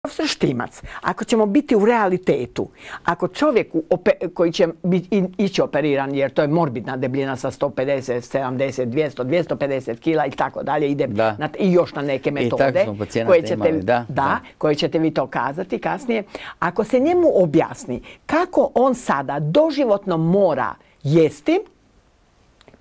profesor Štimac, ako ćemo biti u realitetu, ako čovjeku koji će ići operiran, jer to je morbidna debljina sa 150, 70, 200, 250 kila i tako dalje, ide i još na neke metode koje ćete vi to kazati kasnije. Ako se njemu objasni kako on sada doživotno mora jesti,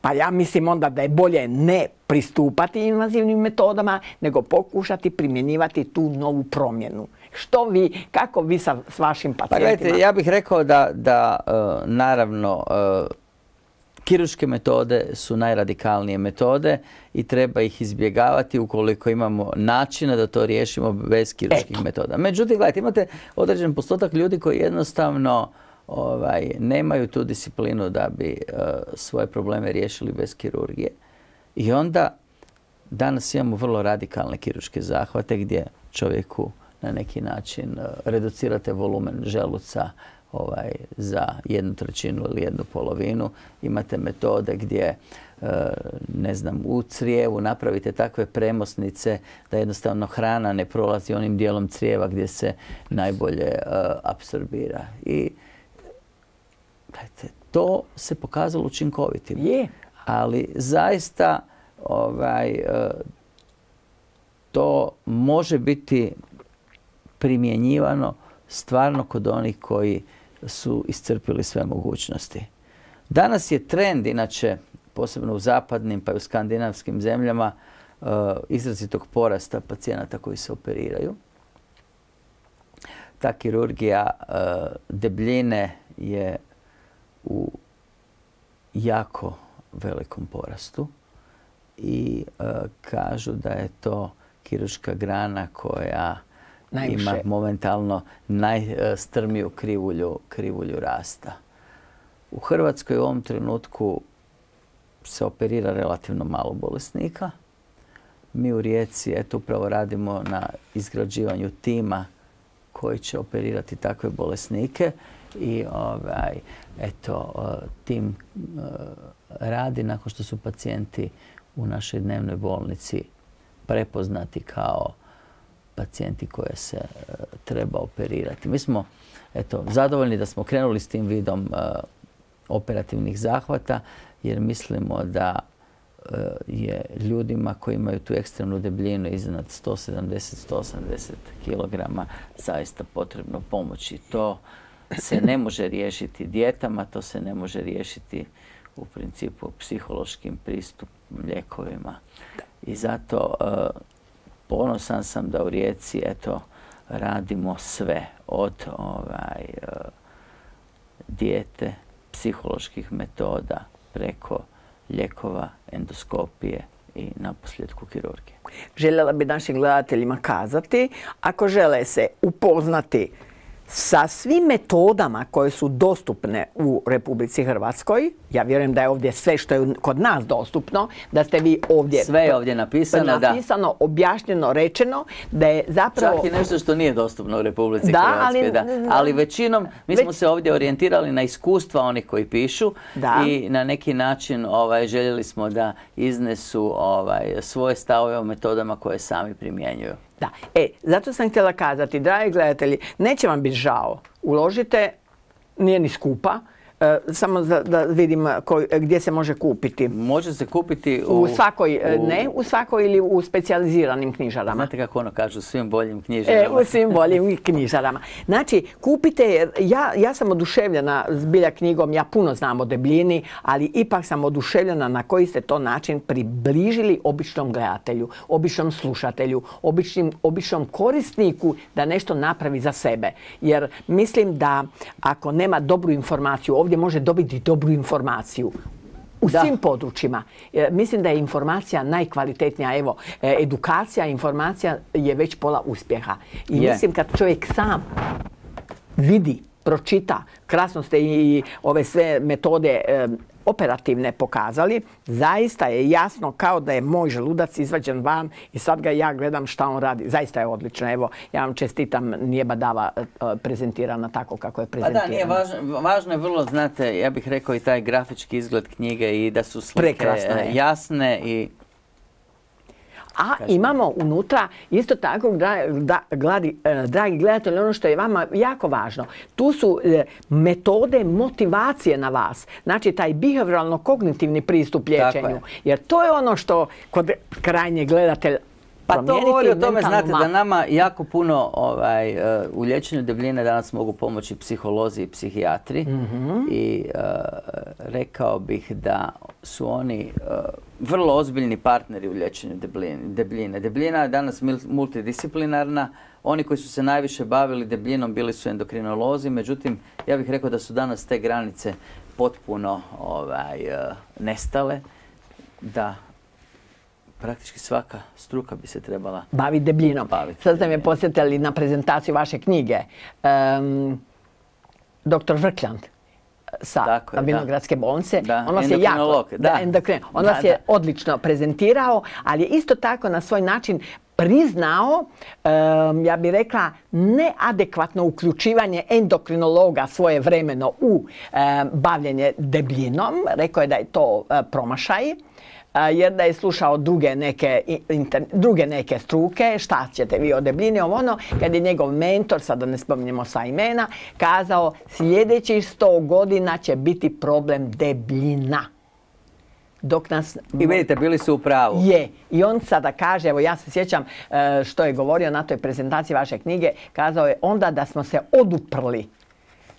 pa ja mislim onda da je bolje ne pristupati invazivnim metodama, nego pokušati primjenjivati tu novu promjenu. Što vi, kako vi s vašim pacijentima? Pa gledajte, ja bih rekao da naravno kirurške metode su najradikalnije metode i treba ih izbjegavati ukoliko imamo načina da to riješimo bez kirurških metoda. Međutim, gledajte, imate određen postotak ljudi koji jednostavno nemaju tu disciplinu da bi svoje probleme riješili bez kirurgije. I onda danas imamo vrlo radikalne kirurške zahvate gdje čovjeku na neki način reducirate volumen želuca za 1/3 ili 1/2. Imate metode gdje, ne znam, u crijevu napravite takve premosnice da jednostavno hrana ne prolazi onim dijelom crijeva gdje se najbolje apsorbira. I to se pokazalo učinkovitim. Ali zaista to može biti primjenjivano stvarno kod onih koji su iscrpili sve mogućnosti. Danas je trend, inače, posebno u zapadnim pa i u skandinavskim zemljama, izrazitog porasta pacijenata koji se operiraju. Ta kirurgija debljine je u jako velikom porastu i kažu da je to kirurška grana koja ima momentalno najstrmiju krivulju rasta. U Hrvatskoj u ovom trenutku se operira relativno malo bolesnika. Mi u Rijeci upravo radimo na izgrađivanju tima koji će operirati takve bolesnike i tim radi nakon što su pacijenti u našoj dnevnoj bolnici prepoznati kao pacijenti koje se treba operirati. Mi smo zadovoljni da smo krenuli s tim vidom operativnih zahvata jer mislimo da je ljudima koji imaju tu ekstremnu debljinu iznad 170-180 kg zaista potrebno pomoći. To se ne može riješiti dijetama, to se ne može riješiti u principu psihološkim pristupom, lijekovima. I zato ponosan sam da u Rijeci radimo sve od dijete, psiholoških metoda preko lijekova, endoskopije i naposljetku kirurgije. Željela bi našim gledateljima kazati, ako žele se upoznati sa svim metodama koje su dostupne u Republici Hrvatskoj, ja vjerujem da je ovdje sve što je kod nas dostupno, da ste vi ovdje... Sve je ovdje napisano, objašnjeno, rečeno, da je zapravo... Čak i nešto što nije dostupno u Republici Hrvatskoj. Ali većinom, mi smo se ovdje orijentirali na iskustva onih koji pišu i na neki način željeli smo da iznesu svoje stavove o metodama koje sami primjenjuju. Da. Zato sam htjela kazati, dragi gledatelji, neće vam biti žao. Uložite, nije ni skupa, samo da vidim gdje se može kupiti. Može se kupiti u svakoj ili u specijaliziranim knjižarama. Znate kako ono kažu, u svim boljim knjižarama. U svim boljim knjižarama. Znači, kupite, ja sam oduševljena zbilja knjigom, ja puno znam o debljini, ali ipak sam oduševljena na koji ste to način približili običnom gledatelju, običnom slušatelju, običnom korisniku da nešto napravi za sebe. Jer mislim da ako nema dobru informaciju, ovdje može dobiti dobru informaciju u svim područjima. Mislim da je informacija najkvalitetnija. Evo, edukacija, informacija je već pola uspjeha. I mislim kad čovjek sam vidi, pročita, krasno ste i ove sve metode operativne pokazali, zaista je jasno kao da je moj želudac izvađen van i sad ga ja gledam šta on radi. Zaista je odlično. Evo, ja vam čestitam, nije badava prezentirana tako kako je prezentirana. Pa da, nije važno je vrlo, znate, ja bih rekao i taj grafički izgled knjige i da su slike jasne i... A imamo unutra isto tako, dragi gledatelji, ono što je vama jako važno. Tu su metode motivacije na vas. Znači, taj behavioralno-kognitivni pristup liječenju. Jer to je ono što kod krajnjeg gledatelja pa to govori o tome, znate, da nama jako puno u liječenju debljine danas mogu pomoći psiholozi i psihijatri. I rekao bih da su oni vrlo ozbiljni partneri u liječenju debljine. Debljina je danas multidisciplinarna. Oni koji su se najviše bavili debljinom bili su endokrinolozi, međutim, ja bih rekao da su danas te granice potpuno nestale, da praktički svaka struka bi se trebala baviti debljinom. Sad ste me posjetili na prezentaciju vaše knjige. Dr. Vrkljand sa Vinogradske bolnice. On vas je odlično prezentirao, ali je isto tako na svoj način priznao, ja bih rekla, neadekvatno uključivanje endokrinologa svojevremeno u bavljenje debljinom. Rekao je da je to promašaj, jer da je slušao druge neke struke, šta ćete vi o debljini, kad je njegov mentor, sada ne spominjemo sva imena, kazao sljedećih 100 godina će biti problem debljina. I vidite, bili su u pravu. Je. I on sada kaže, evo ja se sjećam što je govorio na toj prezentaciji vaše knjige, kazao je onda da smo se oduprli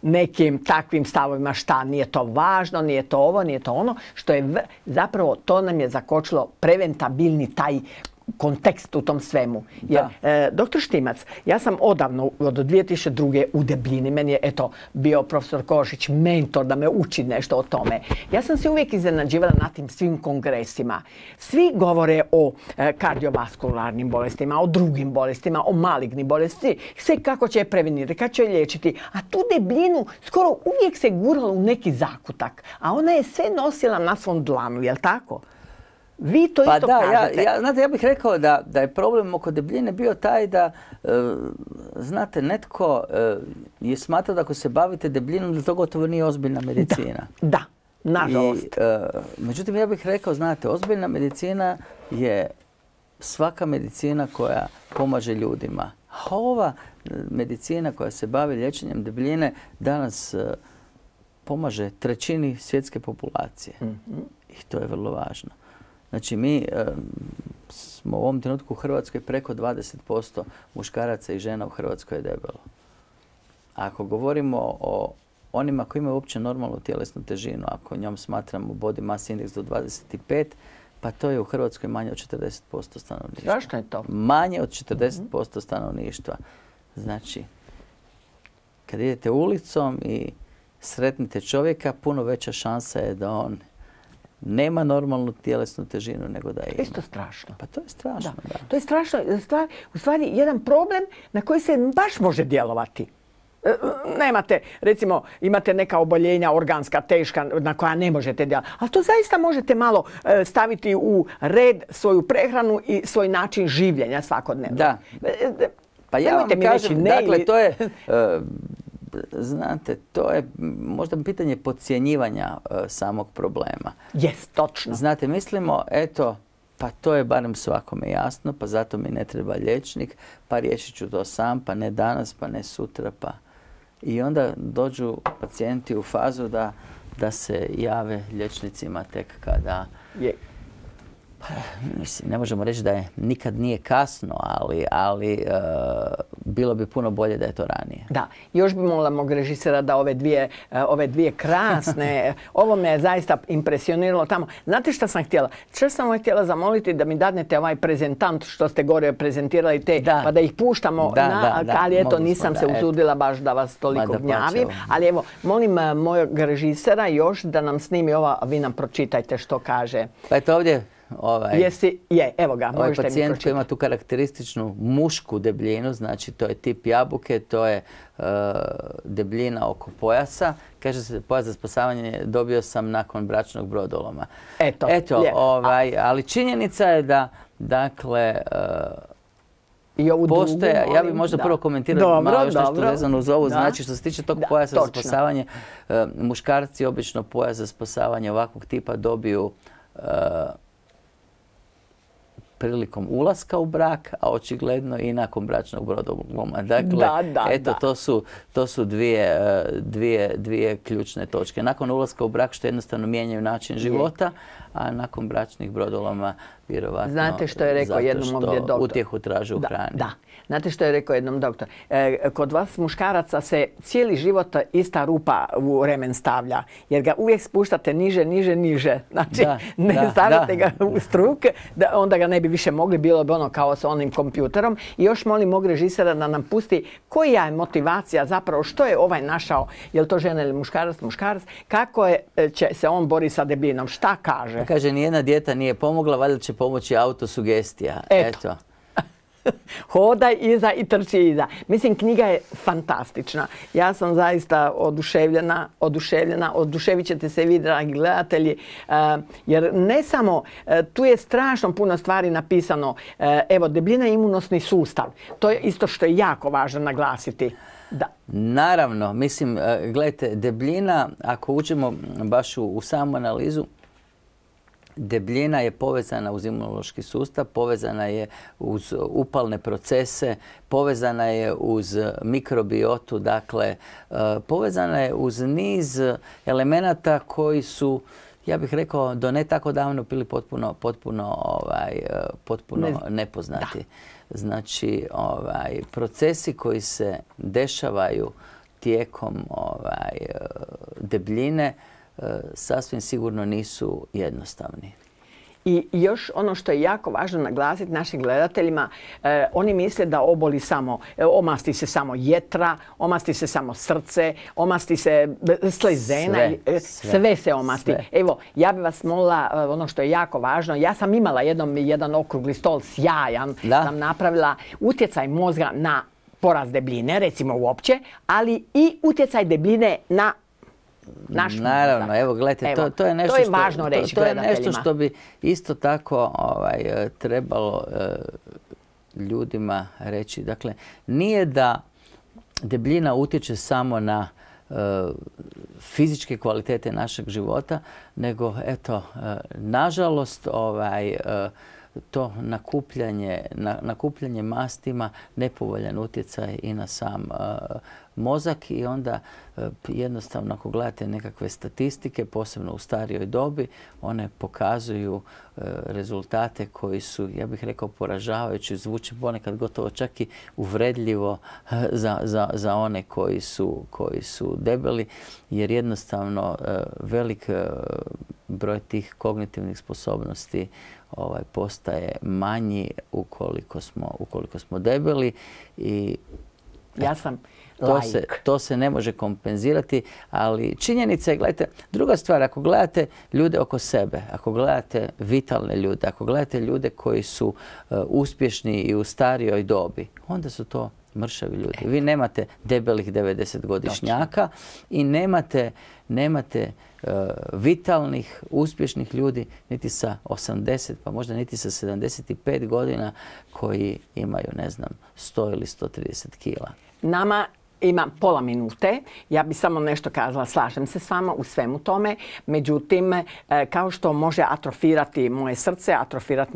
nekim takvim stavovima, šta nije to važno, nije to ovo, nije to ono, što je zapravo to nam je zakočilo preventabilni taj kontekst u tom svemu. Jer, doktor Štimac, ja sam odavno, od 2002. u debljini, meni je bio profesor Košić mentor da me uči nešto o tome. Ja sam se uvijek iznenađivala na tim svim kongresima. Svi govore o kardiovaskularnim bolestima, o drugim bolestima, o malignim bolesti, sve kako će je prevenirati, kako će je liječiti. A tu debljinu skoro uvijek se guralo u neki zakutak, a ona je sve nosila na svom dlanu, jel tako? Vi to isto kažete. Znate, ja bih rekao da je problem oko debljine bio taj da, znate, netko je smatrao da ako se bavite debljinom, da to gotovo nije ozbiljna medicina. Da, nažalost. Međutim, ja bih rekao, znate, ozbiljna medicina je svaka medicina koja pomaže ljudima. A ova medicina koja se bavi liječenjem debljine danas pomaže trećini svjetske populacije. I to je vrlo važno. Znači, mi smo u ovom trenutku u Hrvatskoj preko 20% muškaraca i žena u Hrvatskoj je debelo. A ako govorimo o onima koji imaju uopće normalnu tjelesnu težinu, ako njom smatramo body mass index do 25, pa to je u Hrvatskoj manje od 40% stanovništva. Zašto je to? Manje od 40% stanovništva. Znači, kad idete ulicom i sretnite čovjeka, puno veća šansa je da on nema normalnu tjelesnu težinu nego da ima. Isto strašno. Pa to je strašno, da. To je strašno. U stvari, jedan problem na koji se baš može djelovati. Nemate, recimo, imate neka oboljenja organska, teška, na koja ne možete djelovati. Ali to zaista možete malo staviti u red svoju prehranu i svoj način življenja svakodnevno. Da. Pa ja vam kažem, dakle, to je... Znate, to je možda pitanje podcjenjivanja samog problema. Jest, točno. Znate, mislimo, eto, pa to je barem svakome jasno, pa zato mi ne treba liječnik, pa riješit ću to sam, pa ne danas, pa ne sutra, pa... I onda dođu pacijenti u fazu da se jave liječnicima tek kada... Mislim, ne možemo reći da nikad nije kasno, ali bilo bi puno bolje da je to ranije. Da, još bi molila mog režisera da ove dvije krasne, ovo me je zaista impresioniralo tamo. Znate šta sam htjela? Što sam vam htjela zamoliti da mi dadnete ovaj prezentant što ste gore prezentirali pa da ih puštamo, ali eto nisam se usudila baš da vas toliko gnjavim. Ali evo, molim mojeg režisera još da nam snimi ova, a vi nam pročitajte što kaže. Pa eto ovdje. Evo ga, ovaj pacijent koji ima tu karakterističnu mušku debljinu, znači to je tip jabuke, to je debljina oko pojasa. Kaže se pojas za spasavanje dobio sam nakon bračnog brodoloma. Ali činjenica je da, dakle, postoje, ja bih možda prvo komentirao malo još nešto vezano uz ovo, znači što se tiče tog pojasa za spasavanje, muškarci obično pojas za spasavanje ovakvog tipa dobiju prilikom ulaska u brak, a očigledno i nakon bračnog brodoloma. Dakle, to su dvije ključne točke. Nakon ulaska u brak što jednostavno mijenjaju način života, a nakon bračnih brodoloma vjerovatno znate što je rekao jednom ovdje doktor? Utjehu traže u hrani. Da. Znate što je rekao jednom doktor? Kod vas muškaraca se cijeli život ista rupa u remen stavlja, jer ga uvijek spuštate niže. Znači, ne stavljate ga u struk, onda ga ne bi više mogli, bilo bi ono kao sa onim kompjuterom. I još molim mog režisera da nam pusti koja je motivacija zapravo, što je ovaj našao, je li to žena ili muškarac, kako će se on bori sa debljinom, šta kaže? Kaže, nijedna dijeta nije pomogla, valjda će pomoći autosugestija. Eto. Hodaj iza i trči iza. Mislim, knjiga je fantastična. Ja sam zaista oduševljena. Oduševit ćete se vi, dragi gledatelji, jer ne samo, tu je strašno puno stvari napisano. Evo, debljina je imunosni sustav. To je isto što je jako važno naglasiti. Da. Naravno, mislim, gledajte, debljina, ako uđemo baš u samu analizu, debljina je povezana uz imunološki sustav, povezana je uz upalne procese, povezana je uz mikrobiotu, dakle, povezana je uz niz elemenata koji su, ja bih rekao, do ne tako davno bili potpuno nepoznati. Da. Znači, procesi koji se dešavaju tijekom debljine sasvim sigurno nisu jednostavni. I još ono što je jako važno naglasiti našim gledateljima, oni misle da oboli samo, omasti se samo jetra, omasti se samo srce, omasti se slezena, sve se omasti. Sve. Evo, ja bih vas molila, ono što je jako važno, ja sam imala jedan okrugli stol sjajan, sam napravila utjecaj mozga na porast debljine, recimo uopće, ali i utjecaj debljine na naravno, evo gledajte, to je nešto, važno reći gledateljima. To je nešto što bi isto tako trebalo ljudima reći. Dakle, nije da debljina utječe samo na fizičke kvalitete našeg života, nego eto, nažalost, to nakupljanje mastima nepovoljan utjecaj i na sam mozak i onda jednostavno ako gledate nekakve statistike, posebno u starijoj dobi, one pokazuju rezultate koji su, ja bih rekao, poražavajući, zvuče ponekad gotovo čak i uvredljivo za one koji su debeli, jer jednostavno velik broj tih kognitivnih sposobnosti postaje manji ukoliko smo debeli i ja sam to se ne može kompenzirati, ali činjenica je, gledajte, druga stvar, ako gledate ljude oko sebe, ako gledate vitalne ljude, ako gledate ljude koji su uspješni i u starijoj dobi, onda su to mršavi ljudi. Vi nemate debelih 90-godišnjaka i nemate vitalnih, uspješnih ljudi niti sa 80, pa možda niti sa 75 godina koji imaju, ne znam, 100 ili 130 kila. Nama ima pola minute. Ja bih samo nešto kazala. Slažem se s vama u svemu tome. Međutim, kao što može atrofirati moje srce, atrofirati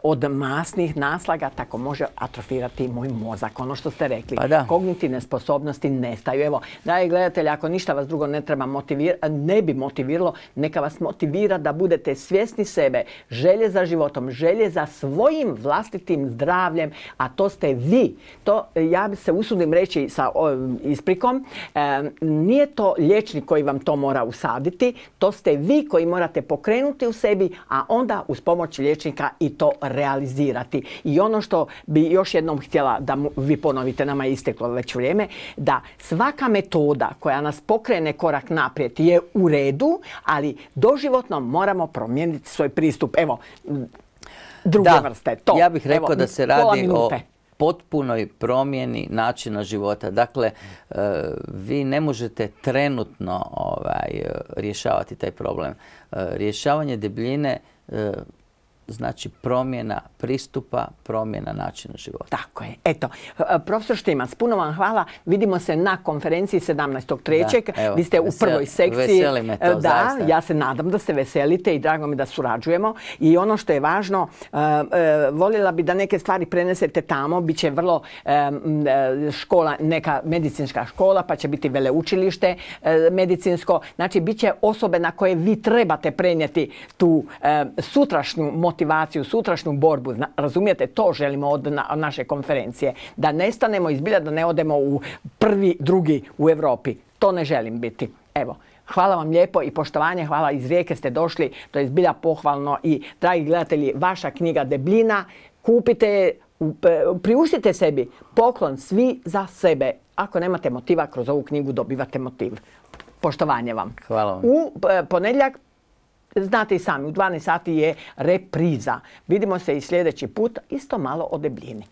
od masnih naslaga, tako može atrofirati moj mozak. Ono što ste rekli. Kognitivne sposobnosti nestaju. Evo, dragi gledatelji, ako ništa vas drugo ne bi motiviralo, neka vas motivira da budete svjesni sebe, želje za životom, želje za svojim vlastitim zdravljem, a to ste vi. To ja bi se usudim reći sa isprikom, nije to liječnik koji vam to mora usaditi, to ste vi koji morate pokrenuti u sebi, a onda uz pomoć liječnika i to realizirati. I ono što bi još jednom htjela da vi ponovite, nama je isteklo već vrijeme, da svaka metoda koja nas pokrene korak naprijed je u redu, ali doživotno moramo promijeniti svoj pristup. Evo, druge vrste. To. Ja bih rekao da se radi o potpunoj promjeni načina života. Dakle, vi ne možete trenutno rješavati taj problem. Rješavanje debljine znači promjena pristupa, promjena načina života. Tako je. Eto, profesor Štimac, puno vam hvala. Vidimo se na konferenciji 17.3. Vi ste u prvoj sekciji. Veseli me to, zaista. Ja se nadam da se veselite i drago mi da surađujemo. I ono što je važno, voljela bi da neke stvari prenesete tamo. Biće vrlo škola, neka medicinska škola, pa će biti veleučilište medicinsko. Znači, bit će osobe na koje vi trebate prenijeti tu sutrašnju motivaciju, sutrašnju borbu. Razumijete, to želimo od naše konferencije. Da nestanemo izbilja, da ne odemo u prvi, drugi u Europi. To ne želim biti. Evo, hvala vam lijepo i poštovanje, hvala, iz Rijeke ste došli, to je zbilja pohvalno i, dragi gledatelji, vaša knjiga Debljina, kupite je, priuštite sebi poklon svi za sebe. Ako nemate motiva, kroz ovu knjigu dobivate motiv. Poštovanje vam. Hvala vam. U ponedjeljak, znate i sami, u 12 sati je repriza. Vidimo se i sljedeći put, isto malo o debljini.